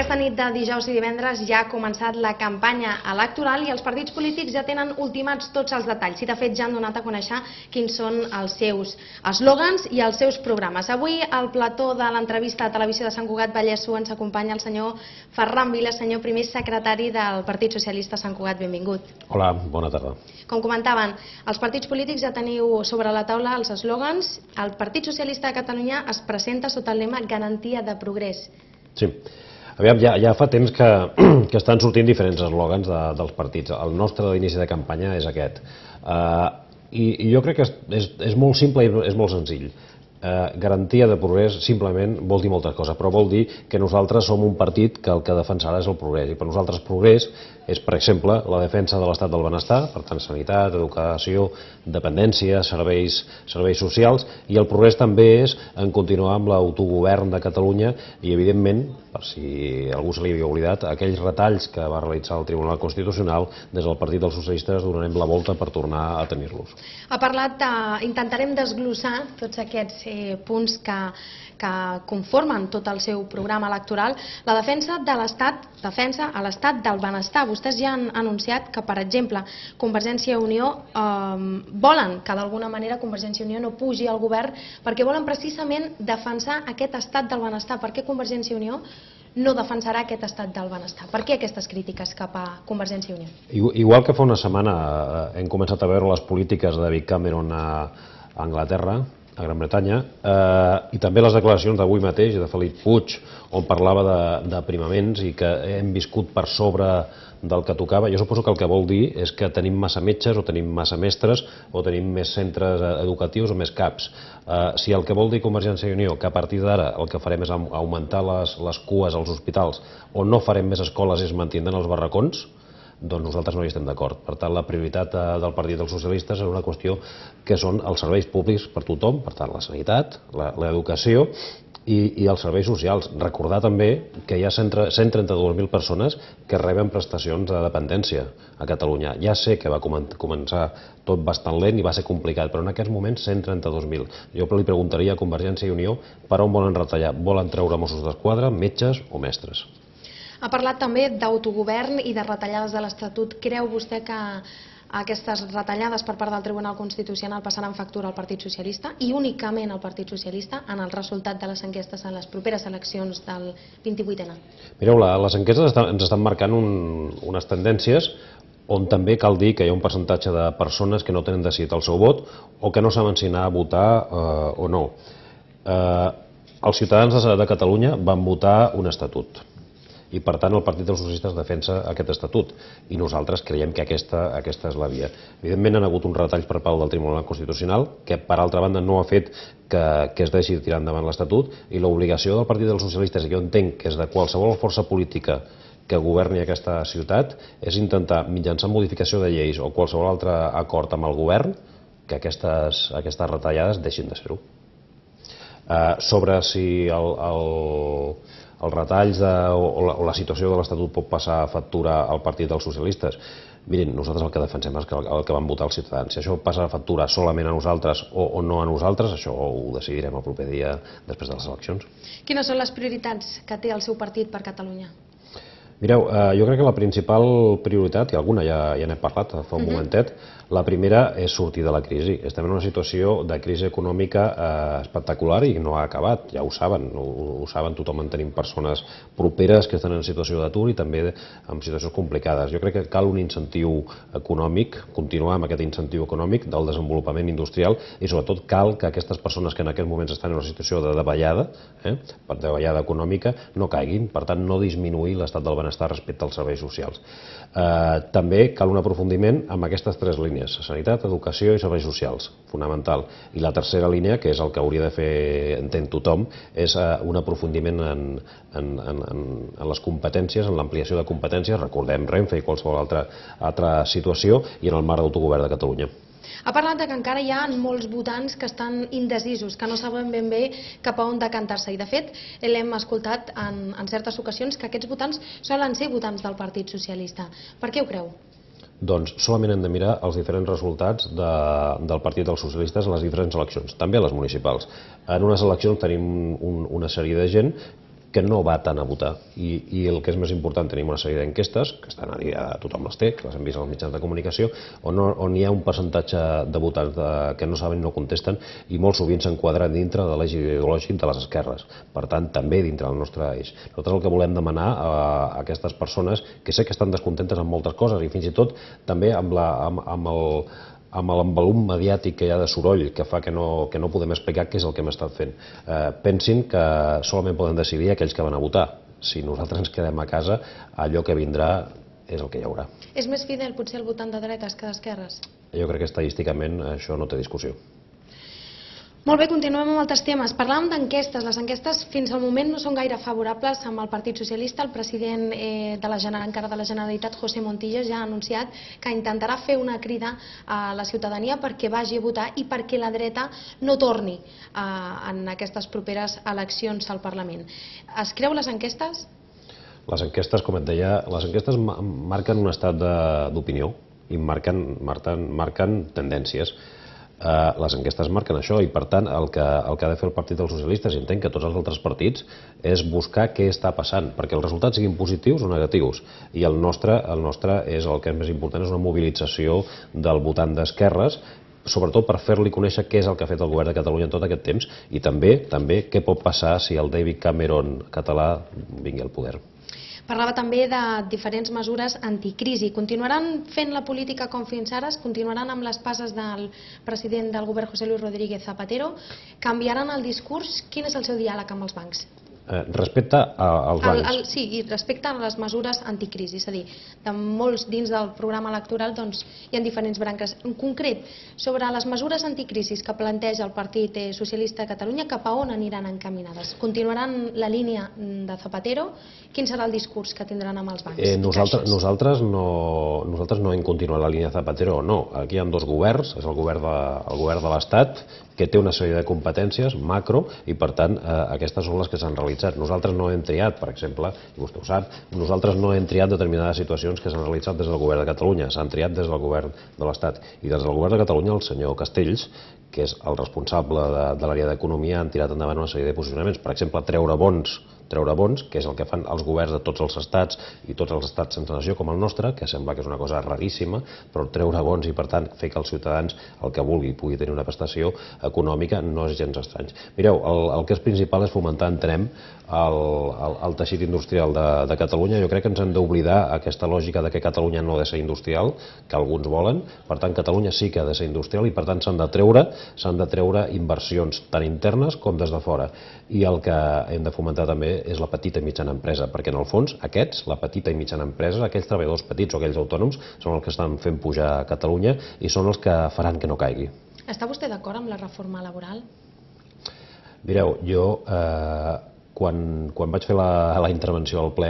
Aquesta nit de dijous i divendres ja ha començat la campanya electoral i els partits polítics ja tenen ultimats tots els detalls i de fet ja han donat a conèixer quins són els seus eslògans i els seus programes. Avui al plató de l'entrevista a Televisió de Sant Cugat Vallès ens acompanya el senyor Ferran Vila, senyor primer secretari del Partit Socialista Sant Cugat. Benvingut. Hola, bona tarda. Com comentaven, els partits polítics ja teniu sobre la taula els eslògans. El Partit Socialista de Catalunya es presenta sota el lema Garantia de progrés. Sí. Aviam, ja fa temps que estan sortint diferents eslògans dels partits. El nostre d'inici de campanya és aquest. I jo crec que és molt simple i és molt senzill. Garantia de progrés simplement vol dir moltes coses, però vol dir que nosaltres som un partit que el que defensarà és el progrés. I per nosaltres progrés és, per exemple, la defensa de l'estat del benestar, per tant, sanitat, educació, dependència, serveis socials, i el progrés també és en continuar amb l'autogovern de Catalunya i, evidentment, per si algú se li havia oblidat, aquells retalls que va realitzar el Tribunal Constitucional, des del Partit dels Socialistes donarem la volta per tornar a tenir-los. Ha parlat, intentarem desglossar tots aquests punts que conformen tot el seu programa electoral. La defensa de l'Estat, defensa a l'Estat del benestar. Vostès ja han anunciat que, per exemple, Convergència i Unió volen que d'alguna manera Convergència i Unió no pugi al govern perquè volen precisament defensar aquest estat del benestar. Per què Convergència i Unió no defensarà aquest estat del benestar? Per què aquestes crítiques cap a Convergència i Unió? Igual que fa una setmana hem començat a veure les polítiques de David Cameron a Anglaterra, a Gran Bretanya, i també les declaracions d'avui mateix de Felip Puig, on parlava d'aprimaments i que hem viscut per sobre del que tocava. Jo suposo que el que vol dir és que tenim massa metges o tenim massa mestres o tenim més centres educatius o més CAPs. Si el que vol dir Convergència i Unió, que a partir d'ara el que farem és augmentar les cues als hospitals o no farem més escoles i es mantindran els barracons, doncs nosaltres no hi estem d'acord. Per tant, la prioritat del Partit dels Socialistes és una qüestió que són els serveis públics per tothom, per tant, la sanitat, l'educació i els serveis socials. Recordar també que hi ha 132.000 persones que reben prestacions de dependència a Catalunya. Ja sé que va començar tot bastant lent i va ser complicat, però en aquests moments 132.000. Jo li preguntaria a Convergència i Unió per on volen retallar. Volen treure Mossos d'Esquadra, metges o mestres? Ha parlat també d'autogovern i de retallades de l'Estatut. Creu vostè que aquestes retallades per part del Tribunal Constitucional passaran factura al Partit Socialista i únicament al Partit Socialista en el resultat de les enquestes en les properes eleccions del 28N? Mireu, les enquestes ens estan marcant unes tendències on també cal dir que hi ha un percentatge de persones que no tenen decidit el seu vot o que no saben si anar a votar o no. Els ciutadans de Catalunya van votar un estatut i per tant el Partit dels Socialistes defensa aquest estatut i nosaltres creiem que aquesta és la via. Evidentment han hagut uns retalls per part del Tribunal Constitucional que per altra banda no ha fet que es deixi tirar endavant l'estatut i l'obligació del Partit dels Socialistes, i jo entenc que és de qualsevol força política que governi aquesta ciutat, és intentar mitjançant modificació de lleis o qualsevol altre acord amb el govern que aquestes retallades deixin de ser-ho. Sobre si els retalls o la situació de l'Estatut pot passar factura al Partit dels Socialistes. Mirin, nosaltres el que defensem és el que van votar els ciutadans. Si això passa factura solament a nosaltres o no a nosaltres, això ho decidirem el proper dia després de les eleccions. Quines són les prioritats que té el seu partit per Catalunya? Mireu, jo crec que la principal prioritat, i alguna ja n'he parlat fa un momentet, la primera és sortir de la crisi. Estem en una situació de crisi econòmica espectacular i no ha acabat, ja ho saben, tothom en tenim persones properes que estan en situació d'atur i també en situacions complicades. Jo crec que cal un incentiu econòmic, continuar amb aquest incentiu econòmic del desenvolupament industrial i sobretot cal que aquestes persones que en aquests moments estan en una situació de davallada econòmica no caiguin, per tant no disminuir l'estat del benestar respecte als serveis socials. També cal un aprofundiment amb aquestes tres línies, sanitat, educació i serveis socials, fonamental. I la tercera línia, que és el que hauria de fer, entén tothom, és un aprofundiment en les competències, en l'ampliació de competències, recordem Renfe i qualsevol altra situació, i en el marc d'autogovern de Catalunya. Ha parlat que encara hi ha molts votants que estan indecisos, que no saben ben bé cap a on decantar-se. I de fet, l'hem escoltat en certes ocasions que aquests votants solen ser votants del Partit Socialista. Per què ho creu? Doncs solament hem de mirar els diferents resultats del Partit dels Socialistes en les diferents eleccions, també a les municipals. En unes eleccions tenim una sèrie de gent que no va tant a votar. I el que és més important, tenim una sèrie d'enquestes, que estan a dia, tothom les té, que les hem vist als mitjans de comunicació, on hi ha un percentatge de votants que no saben i no contesten, i molt sovint s'enquadra dintre de l'eix ideològic de les esquerres. Per tant, també dintre del nostre eix. Nosaltres el que volem demanar a aquestes persones, que sé que estan descontentes amb moltes coses, i fins i tot també amb l'envolum mediàtic que hi ha de soroll, que fa que no podem explicar què és el que hem estat fent. Pensin que solament poden decidir aquells que van a votar. Si nosaltres ens quedem a casa, allò que vindrà és el que hi haurà. És més fidel potser el votant de dretes que d'esquerres? Jo crec que estadísticament això no té discussió. Molt bé, continuem amb altres temes. Parlàvem d'enquestes. Les enquestes fins al moment no són gaire favorables amb el Partit Socialista. El president encara de la Generalitat, José Montilla, ja ha anunciat que intentarà fer una crida a la ciutadania perquè vagi a votar i perquè la dreta no torni en aquestes properes eleccions al Parlament. Es creu les enquestes? Les enquestes, com et deia, les enquestes marquen un estat d'opinió i marquen tendències. Les enquestes marquen això i, per tant, el que ha de fer el Partit dels Socialistes, i entenc que tots els altres partits, és buscar què està passant, perquè els resultats siguin positius o negatius. I el nostre és el que és més important, és una mobilització del votant d'esquerres, sobretot per fer-li conèixer què és el que ha fet el govern de Catalunya en tot aquest temps i també què pot passar si el David Cameron català vingui al poder. Parlava també de diferents mesures anticrisi. Continuaran fent la política com fins ara? Continuaran amb les passes del president del govern, José Luis Rodríguez Zapatero? Canviaran el discurs? Quin és el seu diàleg amb els bancs? Respecte als bancs. Sí, i respecte a les mesures anticrisi, és a dir, dins del programa electoral hi ha diferents branques. En concret, sobre les mesures anticrisis que planteja el Partit Socialista de Catalunya, cap a on aniran encaminades? Continuaran la línia de Zapatero? Quin serà el discurs que tindran amb els bancs? Nosaltres no hem continuat la línia Zapatero, no. Aquí hi ha dos governs, és el govern de l'Estat, que té una sèrie de competències macro i, per tant, aquestes són les que s'han realitzat. Nosaltres no hem triat, per exemple, i vostè ho sap, nosaltres no hem triat determinades situacions que s'han realitzat des del govern de Catalunya, s'han triat des del govern de l'Estat. I des del govern de Catalunya el senyor Castells, que és el responsable de l'àrea d'Economia, han tirat endavant una sèrie de posicionaments. Per exemple, treure bons, que és el que fan els governs de tots els estats i tots els estats sense nació com el nostre, que sembla que és una cosa raríssima, però treure bons i, per tant, fer que els ciutadans el que vulgui pugui tenir una prestació econòmica no és gens estrany. Mireu, el que és principal és fomentar, entenem, el teixit industrial de Catalunya. Jo crec que ens hem d'oblidar aquesta lògica de que Catalunya no ha de ser industrial, que alguns volen. Per tant, Catalunya sí que ha de ser industrial i, per tant, s'han de treure inversions tant internes com des de fora. I el que hem de fomentar també és la petita i mitjana empresa, perquè en el fons aquests, la petita i mitjana empresa, aquells treballadors petits o aquells autònoms, són els que estan fent pujar Catalunya i són els que faran que no caigui. Està vostè d'acord amb la reforma laboral? Mireu, jo quan vaig fer la intervenció al ple,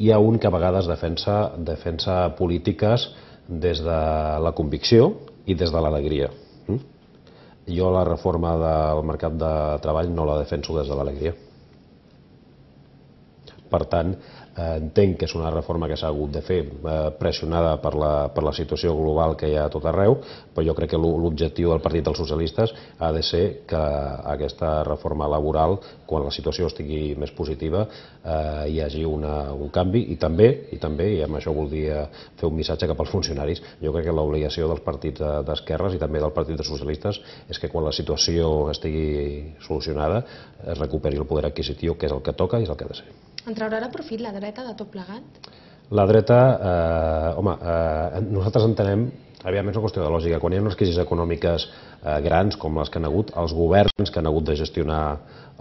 hi ha un que a vegades defensa polítiques des de la convicció i des de l'alegria. Jo la reforma del mercat de treball no la defenso des de l'alegria. Per tant, entenc que és una reforma que s'ha hagut de fer pressionada per la situació global que hi ha a tot arreu, però jo crec que l'objectiu del Partit dels Socialistes ha de ser que aquesta reforma laboral, quan la situació estigui més positiva, hi hagi un canvi i també, i amb això voldria fer un missatge cap als funcionaris, jo crec que l'obligació dels partits d'esquerres i també del Partit dels Socialistes és que quan la situació estigui solucionada es recuperi el poder adquisitiu, que és el que toca i és el que ha de ser. En traurà profit la dreta de tot plegat? La dreta, nosaltres entenem, aviam, és una qüestió de lògica, quan hi ha unes crisis econòmiques grans com les que han hagut, els governs que han hagut de gestionar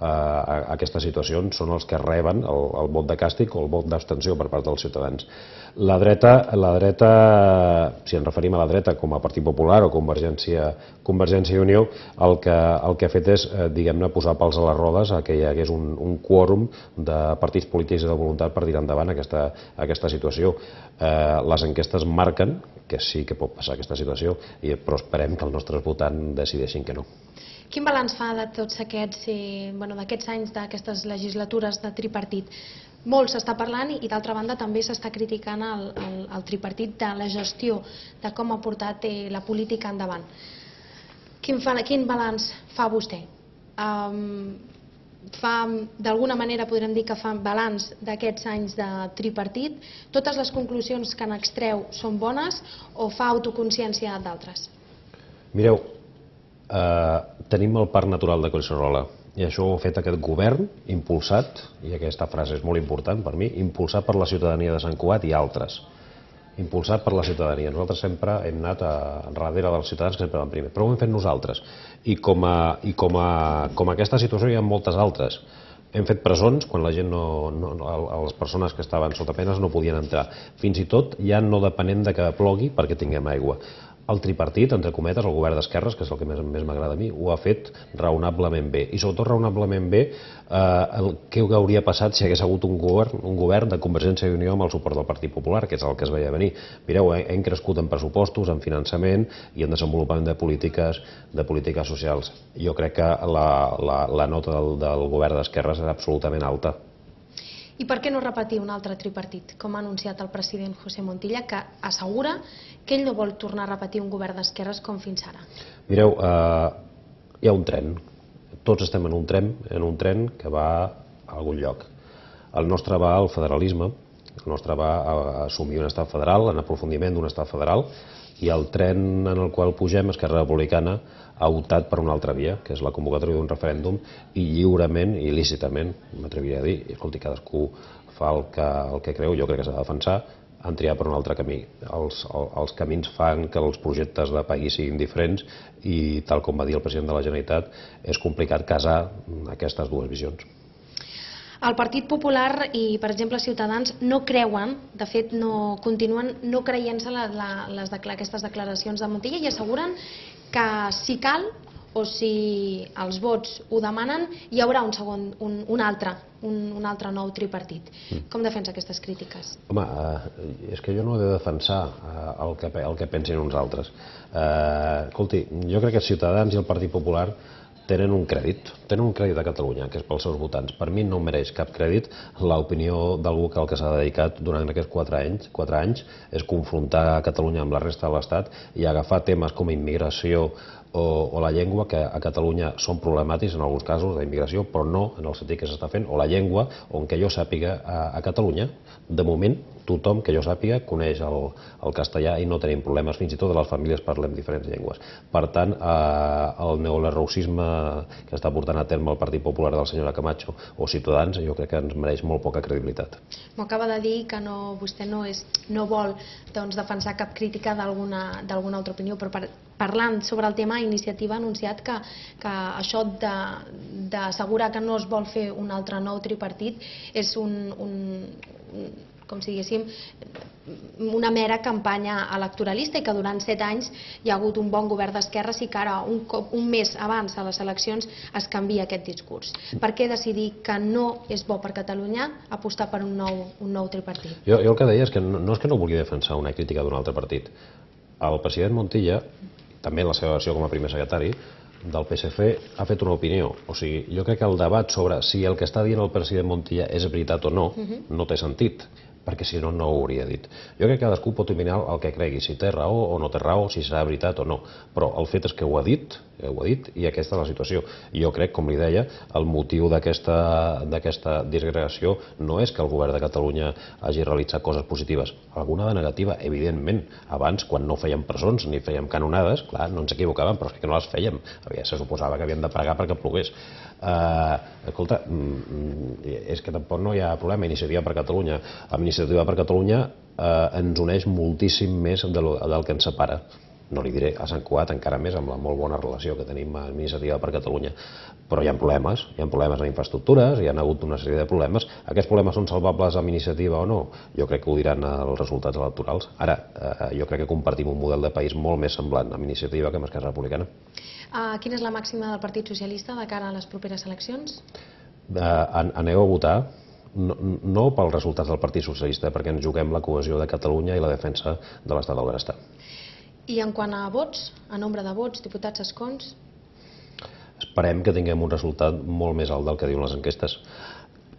aquestes situacions són els que reben el vot de càstig o el vot d'abstenció per part dels ciutadans. La dreta, si ens referim a la dreta com a Partit Popular o Convergència i Unió, el que ha fet és, diguem-ne, posar pals a les rodes a que hi hagués un quòrum de partits polítics i de voluntat per tirar endavant aquesta situació. Les enquestes marquen que sí que pot passar aquesta situació, però esperem que els nostres votants decideixin que no. Quin balanç fa de tots aquests anys, d'aquestes legislatures de tripartit? Molt s'està parlant i d'altra banda també s'està criticant el tripartit de la gestió, de com ha portat la política endavant. Quin balanç fa vostè? d'alguna manera podrem dir que fa balanç d'aquests anys de tripartit, totes les conclusions que n'extreu són bones o fa autoconsciència d'altres? Mireu, tenim el Parc Natural de Collserola i això ho ha fet aquest govern impulsat, i aquesta frase és molt important per mi, impulsat per la ciutadania de Sant Cugat i altres. Impulsat per la ciutadania. Nosaltres sempre hem anat darrere dels ciutadans, que sempre van primer, però ho hem fet nosaltres. I com aquesta situació hi ha moltes altres. Hem fet presons quan la gent les persones que estaven sota penes no podien entrar. Fins i tot ja no depenent de que plogui perquè tinguem aigua. El tripartit, entre cometes, el govern d'esquerres, que és el que més m'agrada a mi, ho ha fet raonablement bé. I sobretot raonablement bé què hauria passat si hagués hagut un govern de Convergència i Unió amb el suport del Partit Popular, que és el que es veia venir. Mireu, hem crescut en pressupostos, en finançament i en desenvolupament de polítiques socials. Jo crec que la nota del govern d'esquerres és absolutament alta. I per què no repetir un altre tripartit, com ha anunciat el president José Montilla, que assegura que ell no vol tornar a repetir un govern d'esquerres com fins ara? Mireu, hi ha un tren. Tots estem en un tren que va a algun lloc. El nostre va al federalisme, el nostre va a assumir un estat federal, en aprofundiment d'un estat federal, i el tren en el qual pugem, Esquerra Republicana, ha optat per una altra via, que és la convocatòria d'un referèndum, i lliurement i il·lícitament, m'atreviria a dir, i escolti, cadascú fa el que creu, jo crec que s'ha de defensar, han triat per un altre camí. Els camins fan que els projectes de país siguin diferents i, tal com va dir el president de la Generalitat, és complicat casar aquestes dues visions. El Partit Popular i, per exemple, Ciutadans no creuen, de fet, continuen no creient-se aquestes declaracions de Montilla i asseguren que si cal o si els vots ho demanen hi haurà un altre nou tripartit. Com defensa aquestes crítiques? Home, és que jo no he de defensar el que pensin uns altres. Escolti, jo crec que Ciutadans i el Partit Popular tenen un crèdit a Catalunya, que és pels seus votants. Per mi no mereix cap crèdit l'opinió d'algú que el que s'ha dedicat durant aquests 4 anys és confrontar Catalunya amb la resta de l'Estat i agafar temes com immigració o la llengua, que a Catalunya són problemàtics en alguns casos d'immigració, però no en el sentit que s'està fent, o la llengua, on que jo sàpiga a Catalunya, de moment, tothom que jo sàpiga coneix el castellà i no tenim problemes, fins i tot les famílies parlem diferents llengües. Per tant, el neolerrouxisme que està portant a terme el Partit Popular de la senyora Camacho o Ciutadans, jo crec que ens mereix molt poca credibilitat. M'ho acaba de dir que vostè no vol defensar cap crítica d'alguna altra opinió, però parlant sobre el tema, Iniciativa ha anunciat que això d'assegurar que no es vol fer un altre nou tripartit és com si diguéssim, una mera campanya electoralista i que durant 7 anys hi ha hagut un bon govern d'esquerres i que ara, un mes abans de les eleccions, es canvia aquest discurs. Per què decidir que no és bo per Catalunya apostar per un nou tripartit? Jo el que deia és que no vulgui defensar una crítica d'un altre partit. El president Montilla, també en la seva versió com a primer secretari del PSC, ha fet una opinió. O sigui, jo crec que el debat sobre si el que està dient el president Montilla és veritat o no, no té sentit, perquè si no, no ho hauria dit. Jo crec que cadascú pot opinar el que cregui, si té raó o no té raó, si serà veritat o no, però el fet és que ho ha dit i aquesta és la situació. Jo crec, com li deia, el motiu d'aquesta disgregació no és que el govern de Catalunya hagi realitzat coses positives, alguna de negativa, evidentment. Abans, quan no fèiem presons ni fèiem canonades, clar, no ens equivocàvem, però és que no les fèiem. Se suposava que havíem de pregar perquè plogués. Escolta, és que tampoc no hi ha problema. Iniciativa per Catalunya. Amb Iniciativa per Catalunya ens uneix moltíssim més del que ens separa. No li diré a Sant Cugat encara més amb la molt bona relació que tenim amb Iniciativa per Catalunya. Però hi ha problemes en infraestructures, hi ha hagut una sèrie de problemes. Aquests problemes són salvables amb Iniciativa o no? Jo crec que ho diran els resultats electorals. Ara, jo crec que compartim un model de país molt més semblant amb Iniciativa que amb Esquerra Republicana. Quina és la màxima del Partit Socialista de cara a les properes eleccions? Aneu a votar, no pels resultats del Partit Socialista, perquè ens juguem la cohesió de Catalunya i la defensa de l'estat del benestar. I en quant a vots, a nombre de vots, diputats, escons? Esperem que tinguem un resultat molt més alt del que diuen les enquestes.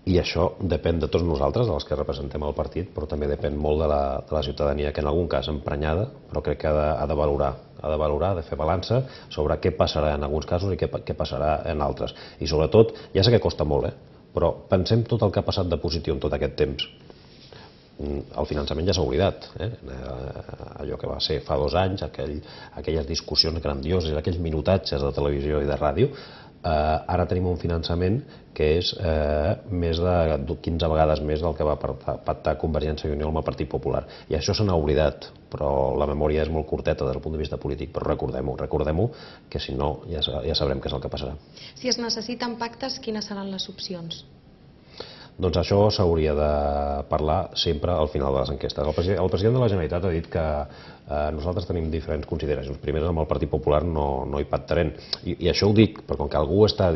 I això depèn de tots nosaltres, dels que representem el partit, però també depèn molt de la ciutadania, que en algun cas emprenyada, però crec que ha de valorar, ha de fer balança sobre què passarà en alguns casos i què passarà en altres. I sobretot, ja sé que costa molt, però pensem tot el que ha passat de positiu en tot aquest temps. El finançament ja s'ha oblidat, allò que va ser fa 2 anys, aquelles discussions grandioses, aquells minutatges de televisió i de ràdio. Ara tenim un finançament que és més de 15 vegades més del que va pactar Convergència i Unió amb el Partit Popular. I això se n'ha oblidat, però la memòria és molt curteta des del punt de vista polític, però recordem-ho, que si no ja sabrem què és el que passarà. Si es necessiten pactes, quines seran les opcions? Doncs això s'hauria de parlar sempre al final de les enquestes. El president de la Generalitat ha dit que nosaltres tenim diferents consideracions. Primer, amb el Partit Popular no hi pactarem. I això ho dic, perquè com que algú està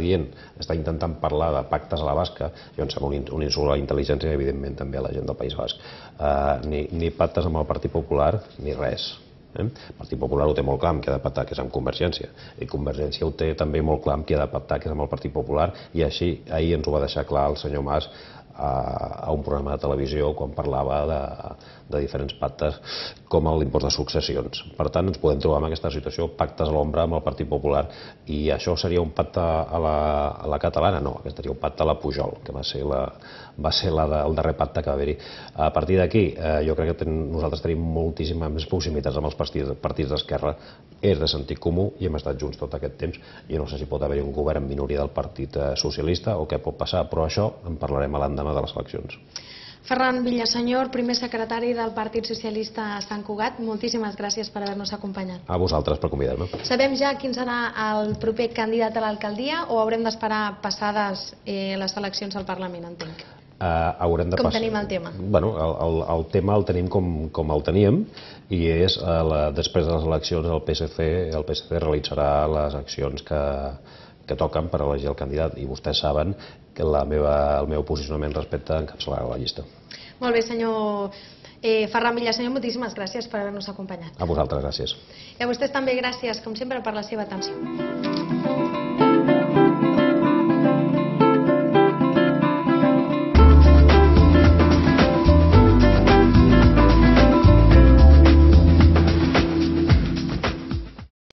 intentant parlar de pactes a la basca, jo em sembla un insult a la intel·ligència i evidentment també a la gent del País Basc. Ni pactes amb el Partit Popular ni res. El Partit Popular ho té molt clar amb qui ha de pactar, que és amb Convergència, i Convergència ho té també molt clar amb qui ha de pactar, que és amb el Partit Popular, i així ahir ens ho va deixar clar el senyor Mas a un programa de televisió quan parlava de diferents pactes com l'impost de successions. Per tant, ens podem trobar en aquesta situació, pactes a l'ombra amb el Partit Popular, i això seria un pacte a la catalana? No, aquest seria un pacte a la Pujol, que va ser el darrer pacte que va haver-hi. A partir d'aquí, jo crec que nosaltres tenim moltíssimes més proximitats amb els partits d'esquerra, és de sentit comú i hem estat junts tot aquest temps. Jo no sé si pot haver-hi un govern en minoria del Partit Socialista o què pot passar, però això en parlarem a l'endemà de les eleccions. Ferran Villasenyor, primer secretari del Partit Socialista a Sant Cugat, moltíssimes gràcies per haver-nos acompanyat. A vosaltres per convidar-me. Sabem ja quin serà el proper candidat a l'alcaldia o haurem d'esperar passades les eleccions al Parlament, entenc? Com tenim el tema? El tema el tenim com el teníem, i és després de les eleccions el PSC realitzarà les accions que toquen per elegir el candidat, i vostès saben que el meu posicionament respecte a encapçalar la llista. Molt bé, senyor Ferran Villasenyor, moltíssimes gràcies per haver-nos acompanyat. A vosaltres, gràcies. I a vostès també gràcies, com sempre, per la seva atenció.